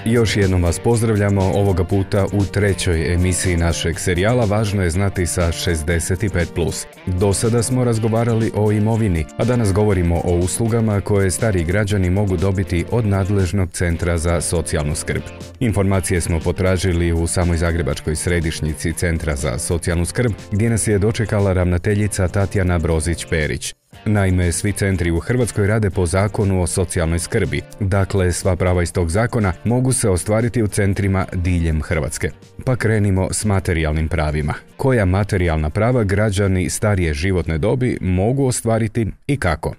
Još jednom vas pozdravljamo, ovoga puta u trećoj emisiji našeg serijala Važno je znati sa 65+. Do sada smo razgovarali o imovini, a danas govorimo o uslugama koje stariji građani mogu dobiti od nadležnog centra za socijalnu skrb. Informacije smo potražili u samoj zagrebačkoj središnjici Centra za socijalnu skrb, gdje nas je dočekala ravnateljica Tatjana Brozić-Perić. Naime, svi centri u Hrvatskoj rade po Zakonu o socijalnoj skrbi. Dakle, sva prava iz tog zakona mogu se ostvariti u centrima diljem Hrvatske. Pa krenimo s materijalnim pravima. Koja materijalna prava građani starije životne dobi mogu ostvariti i kako?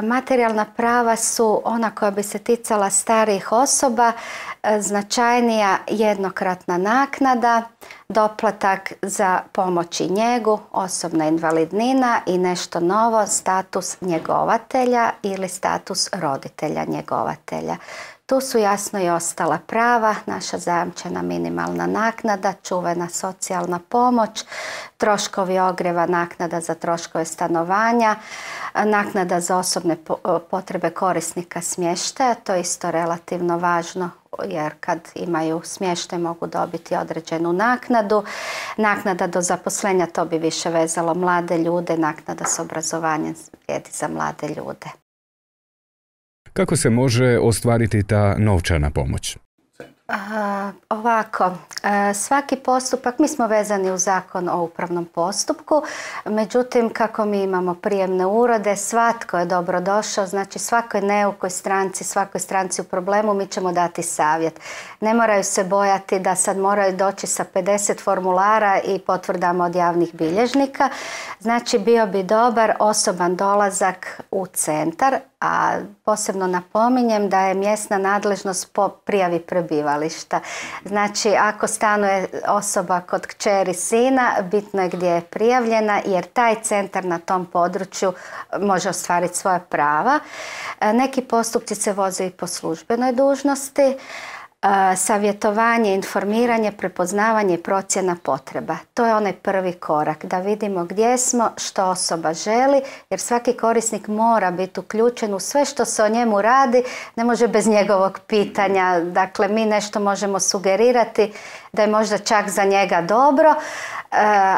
Materijalna prava su ona koja bi se ticala starijih osoba, značajnija jednokratna naknada, doplatak za pomoć i njegu, osobna invalidnina i nešto novo, status njegovatelja ili status roditelja njegovatelja. Tu su jasno i ostala prava, naša zajamčena minimalna naknada, čuvena socijalna pomoć, troškovi ogrijeva, naknada za troškove stanovanja, naknada za osobne potrebe korisnika smještaja, to je isto relativno važno jer kad imaju smještaj mogu dobiti određenu naknadu. Naknada do zaposlenja, to bi više vezalo mlade ljude, naknada s obrazovanjem vrijedi za mlade ljude. Kako se može ostvariti ta novčana pomoć? Ovako, svaki postupak, mi smo vezani u Zakon o upravnom postupku, međutim kako mi imamo prijemne urode, svatko je dobro došao, znači svakoj neukoj stranci, svakoj stranci u problemu mi ćemo dati savjet. Ne moraju se bojati da sad moraju doći sa 50 formulara i potvrdama od javnih bilježnika, znači bio bi dobar osoban dolazak u centar, a posebno napominjem da je mjesna nadležnost po prijavi prebivališta. Znači, ako stanuje osoba kod kćeri sina, bitno je gdje je prijavljena, jer taj centar na tom području može ostvariti svoja prava. Neki postupci se voze i po službenoj dužnosti. Savjetovanje, informiranje, prepoznavanje i procjena potreba. To je onaj prvi korak, da vidimo gdje smo, što osoba želi, jer svaki korisnik mora biti uključen u sve što se o njemu radi, ne može bez njegovog pitanja. Dakle, mi nešto možemo sugerirati da je možda čak za njega dobro,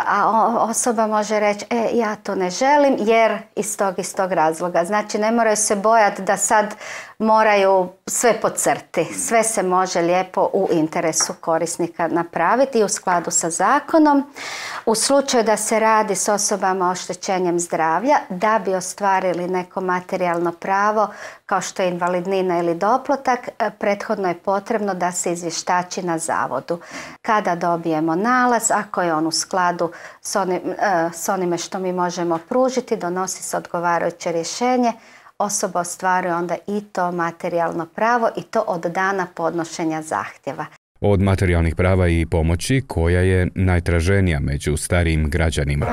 a osoba može reći ja to ne želim jer iz tog razloga. Znači ne moraju se bojati da sad moraju sve podcrti. Sve se može lijepo u interesu korisnika napraviti i u skladu sa zakonom. U slučaju da se radi s osobama oštećenjem zdravlja, da bi ostvarili neko materijalno pravo kao što je invalidnina ili doplatak, prethodno je potrebno da se na zavodu. Kada dobijemo nalaz, ako je on u skladu s onime što mi možemo pružiti, donosi se odgovarajuće rješenje, osoba ostvaruje onda i to materijalno pravo i to od dana podnošenja zahtjeva. Od materijalnih prava i pomoći, koja je najtraženija među starijim građanima?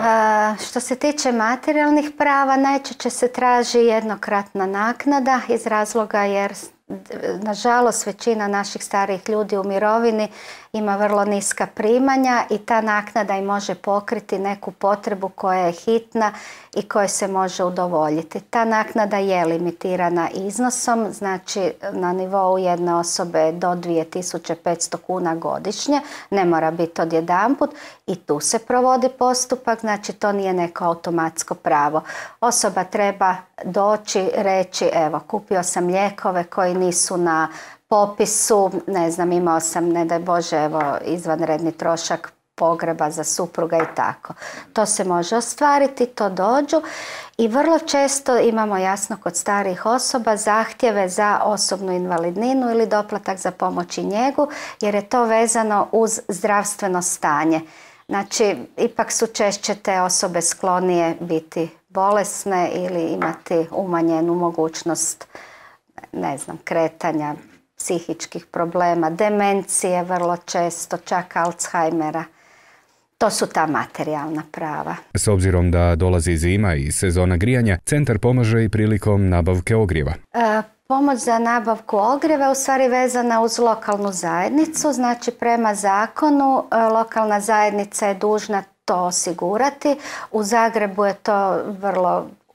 Što se tiče materijalnih prava, najčešće se traži jednokratna naknada iz razloga jer nažalost većina naših starijih ljudi u mirovini ima vrlo niska primanja i ta naknada im može pokriti neku potrebu koja je hitna i koje se može udovoljiti. Ta naknada je limitirana iznosom, znači na nivou jedne osobe do 2500 kuna godišnje, ne mora biti odjedanput i tu se provodi postupak, znači to nije neko automatsko pravo. Osoba treba doći, reći evo kupio sam lijekove koji nisu na popisu, ne znam, imao sam, ne daj Bože, evo, izvanredni trošak pogreba za supruga i tako. To se može ostvariti, to dođu i vrlo često imamo jasno kod starijih osoba zahtjeve za osobnu invalidninu ili doplatak za pomoć i njegu, jer je to vezano uz zdravstveno stanje. Znači, ipak su češće te osobe sklonije biti bolesne ili imati umanjenu mogućnost, ne znam, kretanja, psihičkih problema, demencije vrlo često, čak Alzheimera. To su ta materijalna prava. S obzirom da dolazi zima i sezona grijanja, centar pomaže i prilikom nabavke ogrijeva. Pomoć za nabavku ogrijeva u stvari vezana uz lokalnu zajednicu, znači prema zakonu lokalna zajednica je dužna to osigurati. U Zagrebu je to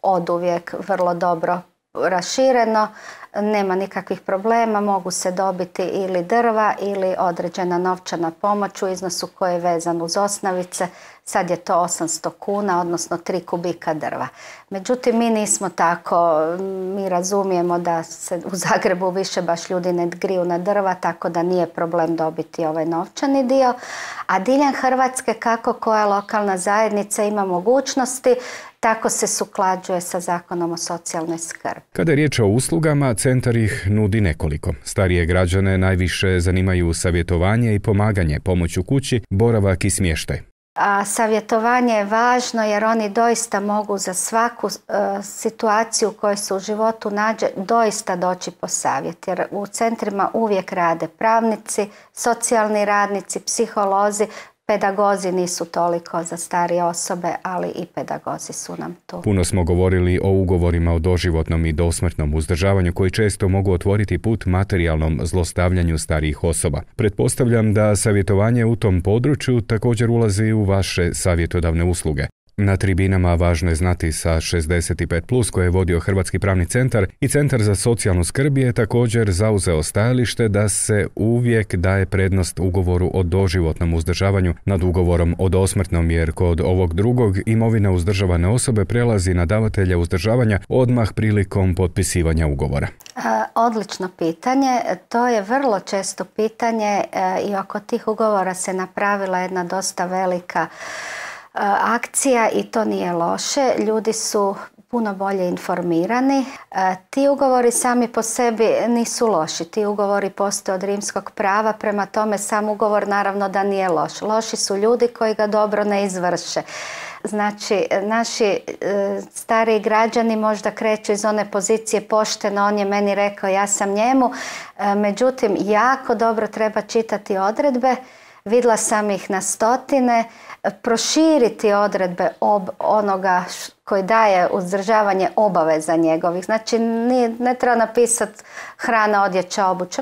oduvijek vrlo dobro rašireno, nema nikakvih problema, mogu se dobiti ili drva ili određena novčana pomoć u iznosu koji je vezan uz osnovice. Sad je to 800 kuna, odnosno 3 kubika drva. Međutim, mi nismo tako, mi razumijemo da se u Zagrebu više baš ljudi ne griju na drva, tako da nije problem dobiti ovaj novčani dio. A diljem Hrvatske, kako koja lokalna zajednica ima mogućnosti, tako se suklađuje sa Zakonom o socijalnoj skrbi. Kada je riječ o uslugama, centar ih nudi nekoliko. Starije građane najviše zanimaju savjetovanje i pomaganje, pomoć u kući, boravak i smještaj. A savjetovanje je važno jer oni doista mogu za svaku situaciju u kojoj se u životu nađe doista doći po savjet. Jer u centrima uvijek rade pravnici, socijalni radnici, psiholozi, pedagozi nisu toliko za starije osobe, ali i pedagozi su nam tu. Puno smo govorili o ugovorima o doživotnom i dosmrtnom uzdržavanju koji često mogu otvoriti put materijalnom zlostavljanju starijih osoba. Pretpostavljam da savjetovanje u tom području također ulazi u vaše savjetodavne usluge. Na tribinama važno je znati sa 65+, koje je vodio Hrvatski pravni centar i Centar za socijalnu skrb je također zauzeo stajalište da se uvijek daje prednost ugovoru o doživotnom uzdržavanju nad ugovorom o dosmrtnom, jer kod ovog drugog imovina uzdržavane osobe prelazi na davatelja uzdržavanja odmah prilikom potpisivanja ugovora. Odlično pitanje. To je vrlo često pitanje i oko tih ugovora se napravila jedna dosta velika akcija i to nije loše. Ljudi su puno bolje informirani. Ti ugovori sami po sebi nisu loši. Ti ugovori postoje od rimskog prava, prema tome sam ugovor naravno da nije loš. Loši su ljudi koji ga dobro ne izvrše. Znači, naši stariji građani možda kreću iz one pozicije pošteno, on je meni rekao, ja sam njemu. Međutim, jako dobro treba čitati odredbe. Vidjela sam ih na stotine. Proširiti odredbe onoga koji daje uzdržavanje obaveza njegovih. Znači, ne treba napisati hrana, odjeća, obuća.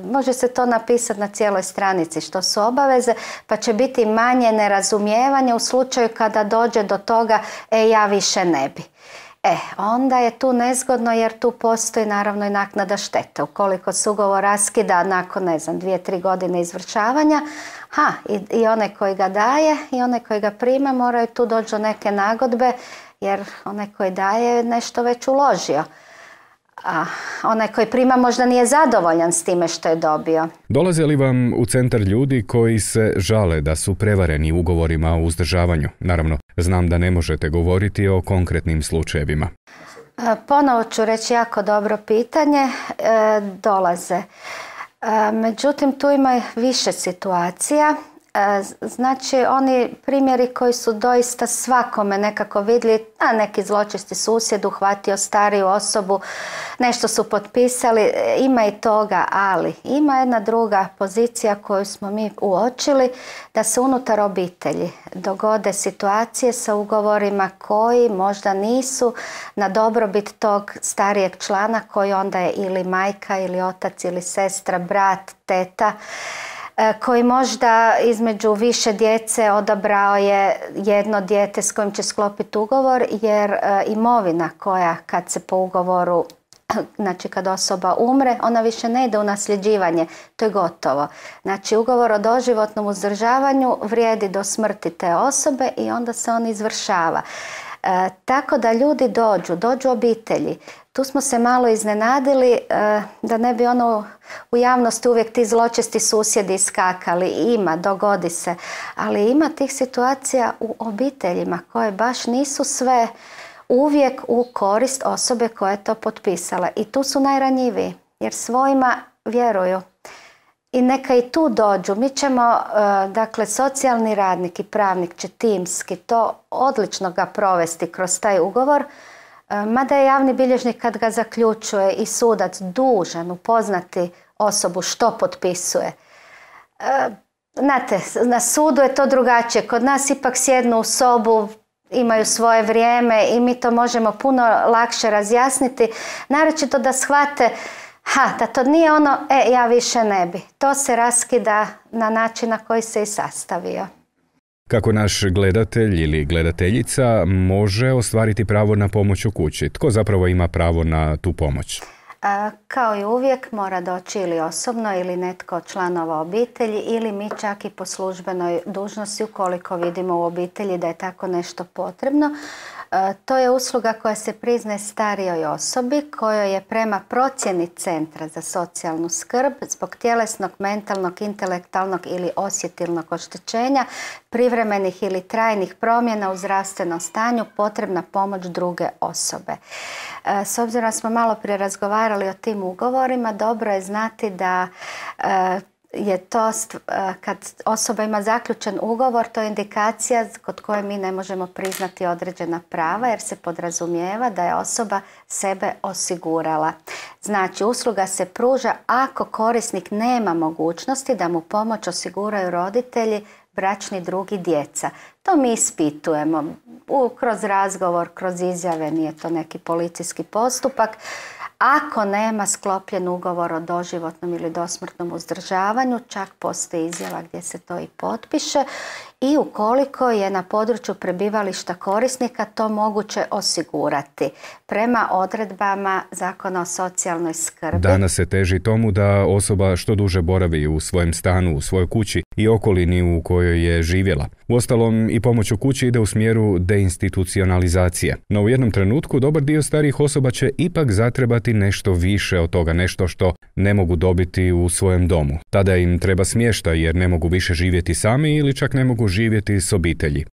Može se to napisati na cijeloj stranici što su obaveze, pa će biti manje nerazumijevanja u slučaju kada dođe do toga, ja više ne bi. Onda je tu nezgodno jer tu postoji naravno i naknada štete. Ukoliko se ugovor raskida nakon, 2-3 godine izvršavanja, i onaj koji ga daje i onaj koji ga prima moraju tu doći do neke nagodbe jer onaj koji daje je nešto već uložio. A onaj koji prima možda nije zadovoljan s time što je dobio. Dolaze li vam u centar ljudi koji se žale da su prevareni ugovorima o uzdržavanju? Naravno, znam da ne možete govoriti o konkretnim slučajevima. Ponovo ću reći jako dobro pitanje. Dolaze. Međutim, tu ima više situacija. Znači, oni primjeri koji su doista svakome nekako vidjeli, neki zločesti susjed uhvatio stariju osobu, nešto su potpisali, ima i toga, ali ima jedna druga pozicija koju smo mi uočili, da se unutar obitelji dogode situacije sa ugovorima koji možda nisu na dobrobit tog starijeg člana koji onda je ili majka ili otac ili sestra, brat, teta, koji možda između više djece odabrao je jedno dijete s kojim će sklopiti ugovor, jer imovina koja kad se po ugovoru, znači kad osoba umre, ona više ne ide u nasljeđivanje, to je gotovo. Znači ugovor o doživotnom uzdržavanju vrijedi do smrti te osobe i onda se on izvršava. Tako da ljudi dođu obitelji. Tu smo se malo iznenadili da ne bi u javnosti uvijek ti zločesti susjedi iskakali. Dogodi se. Ali ima tih situacija u obiteljima koje baš nisu sve uvijek u korist osobe koja je to potpisala. I tu su najranjiviji jer svojima vjeruju. I neka i tu dođu. Mi ćemo, socijalni radnik i pravnik će timski to odlično ga provesti kroz taj ugovor, mada je javni bilježnik kad ga zaključuje i sudac dužan upoznati osobu što potpisuje. Znate, na sudu je to drugačije. Kod nas ipak sjednu u sobu, imaju svoje vrijeme i mi to možemo puno lakše razjasniti, naročito da shvate da to nije ono, ja više ne bi. To se raskida na način na koji se i sastavio. Kako naš gledatelj ili gledateljica može ostvariti pravo na pomoć u kući? Tko zapravo ima pravo na tu pomoć? Kao i uvijek mora doći ili osobno ili netko od članova obitelji ili mi čak i po službenoj dužnosti ukoliko vidimo u obitelji da je tako nešto potrebno. To je usluga koja se priznaje starijoj osobi kojoj je prema procjeni Centra za socijalnu skrb zbog tjelesnog, mentalnog, intelektualnog ili osjetilnog oštećenja, privremenih ili trajnih promjena u zdravstvenom stanju potrebna pomoć druge osobe. S obzirom da smo malo prije razgovarali o tim ugovorima, dobro je znati da je to, kad osoba ima zaključen ugovor, to je indikacija kod koje mi ne možemo priznati određena prava jer se podrazumijeva da je osoba sebe osigurala. Znači, usluga se pruža ako korisnik nema mogućnosti da mu pomoć osiguraju roditelji, bračni drug i djeca. To mi ispitujemo kroz razgovor, kroz izjave, nije to neki policijski postupak. Ako nema sklopljen ugovor o doživotnom ili dosmrtnom uzdržavanju, čak postoji izjava gdje se to i potpiše i ukoliko je na području prebivališta korisnika to moguće osigurati prema odredbama Zakona o socijalnoj skrbi. Danas se teži tomu da osoba što duže boravi u svojem stanu, u svojoj kući i okolini u kojoj je živjela. Uostalom, i pomoć u kući ide u smjeru deinstitucionalizacije. No u jednom trenutku dobar dio starijih osoba će ipak zatrebati nešto više od toga, nešto što ne mogu dobiti u svojem domu. Tada im treba smještaj jer ne mogu više živjeti sami ili čak ne mogu živjeti s obitelji.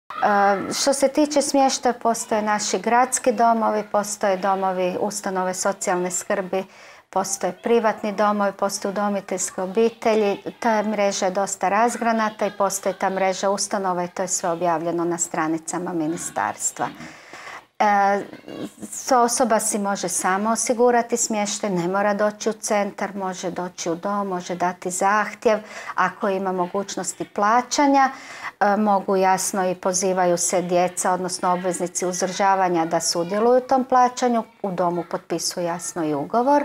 Što se tiče smještaja, postoje naši gradski domovi, postoje domovi, ustanove socijalne skrbi, postoje privatni domovi, postoje udomiteljske obitelji. Ta mreža je dosta razgranata i postoji ta mreža ustanova i to je sve objavljeno na stranicama ministarstva. Osoba si može samo osigurati smještaj, ne mora doći u centar, može doći u dom, može dati zahtjev ako ima mogućnosti plaćanja. Mogu jasno i pozivaju se djeca, odnosno obveznici uzdržavanja da sudjeluju u tom plaćanju, u domu potpisuju jasno i ugovor.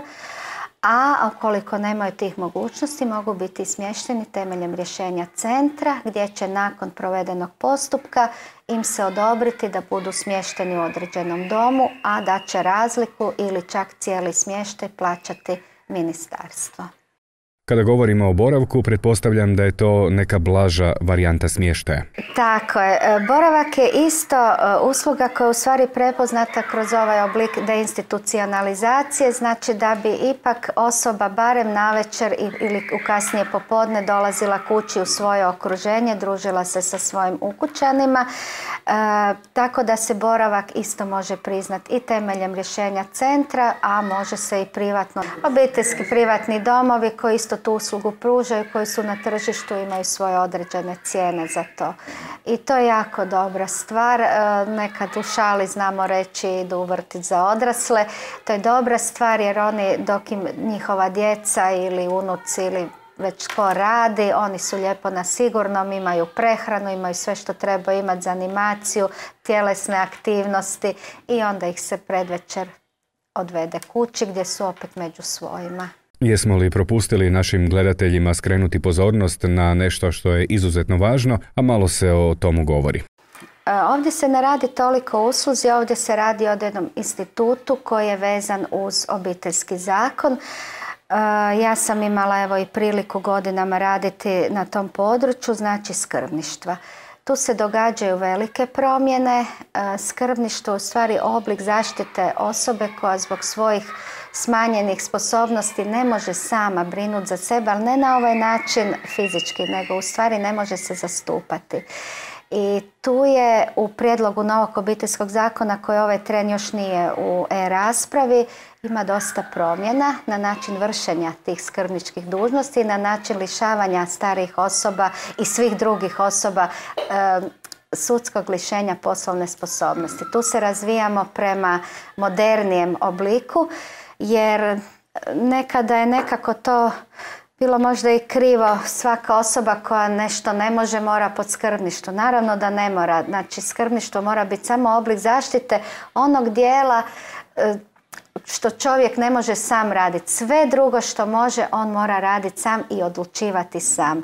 A ukoliko nemaju tih mogućnosti, mogu biti smješteni temeljem rješenja centra gdje će nakon provedenog postupka im se odobriti da budu smješteni u određenom domu, a da će razliku ili čak cijeli smještaj plaćati ministarstvo. Kada govorimo o boravku, pretpostavljam da je to neka blaža varijanta smještaja. Tako je. Boravak je isto usluga koja je u stvari prepoznata kroz ovaj oblik deinstitucionalizacije, znači da bi ipak osoba barem navečer ili u kasnije popodne dolazila kući u svoje okruženje, družila se sa svojim ukućanima, tako da se boravak isto može priznati i temeljem rješenja centra, a može se i privatno. Obiteljski privatni domovi koji isto tu uslugu pružaju, koji su na tržištu, imaju svoje određene cijene za to. I to je jako dobra stvar. Nekad u šali znamo reći idu u vrtić za odrasle. To je dobra stvar jer oni, dok im njihova djeca ili unuci ili već tko radi, oni su lijepo na sigurnom, imaju prehranu, imaju sve što treba imati za animaciju, tjelesne aktivnosti i onda ih se predvečer odvede kući gdje su opet među svojima. Jesmo li propustili našim gledateljima skrenuti pozornost na nešto što je izuzetno važno, a malo se o tomu govori? Ovdje se ne radi toliko o usluzi, ovdje se radi o jednom institutu koji je vezan uz obiteljski zakon. Ja sam imala i priliku godinama raditi na tom području, znači skrbništva. Tu se događaju velike promjene. Skrbništvo je u stvari oblik zaštite osobe koja zbog svojih smanjenih sposobnosti ne može sama brinuti za sebe, ali ne na ovaj način fizički, nego u stvari ne može se zastupati. I tu je u prijedlogu novog obiteljskog zakona koji ovaj tren još nije u e-raspravi, ima dosta promjena na način vršenja tih skrbničkih dužnosti, na način lišavanja starijih osoba i svih drugih osoba sudskog lišenja poslovne sposobnosti. Tu se razvijamo prema modernijem obliku jer nekada je nekako to bilo možda i krivo. Svaka osoba koja nešto ne može mora pod skrbništvo. Naravno da ne mora. Znači, skrbništvo mora biti samo oblik zaštite onog dijela što čovjek ne može sam raditi. Sve drugo što može, on mora raditi sam i odlučivati sam.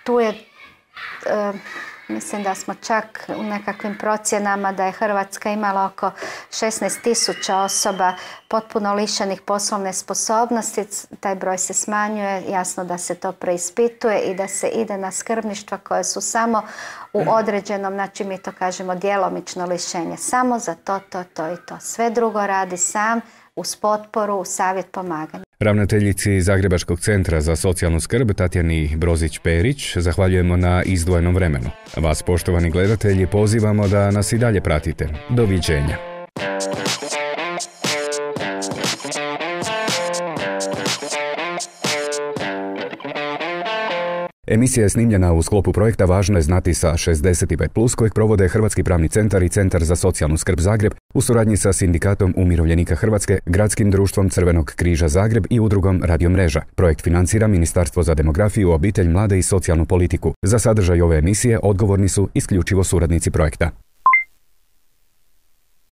Tu je, mislim da smo čak u nekakvim procjenama da je Hrvatska imala oko 16.000 osoba potpuno lišenih poslovne sposobnosti. Taj broj se smanjuje, jasno da se to preispituje i da se ide na skrbništva koje su samo u određenom, znači mi to kažemo djelomično lišenje. Samo za to i to. Sve drugo radi sam, uz potporu, uz savjet, pomaganja. Ravnateljici Zagrebačkog centra za socijalnu skrb Tatjani Brozić-Perić zahvaljujemo na izdvojenom vremenu. Vas, poštovani gledatelji, pozivamo da nas i dalje pratite. Doviđenja. Emisija je snimljena u sklopu projekta Važno je znati sa 65+, kojeg provode Hrvatski pravni centar i Centar za socijalnu skrb Zagreb u suradnji sa Sindikatom umirovljenika Hrvatske, Gradskim društvom Crvenog križa Zagreb i udrugom Radio Mreža. Projekt financira Ministarstvo za demografiju, obitelj, mlade i socijalnu politiku. Za sadržaj ove emisije odgovorni su isključivo suradnici projekta.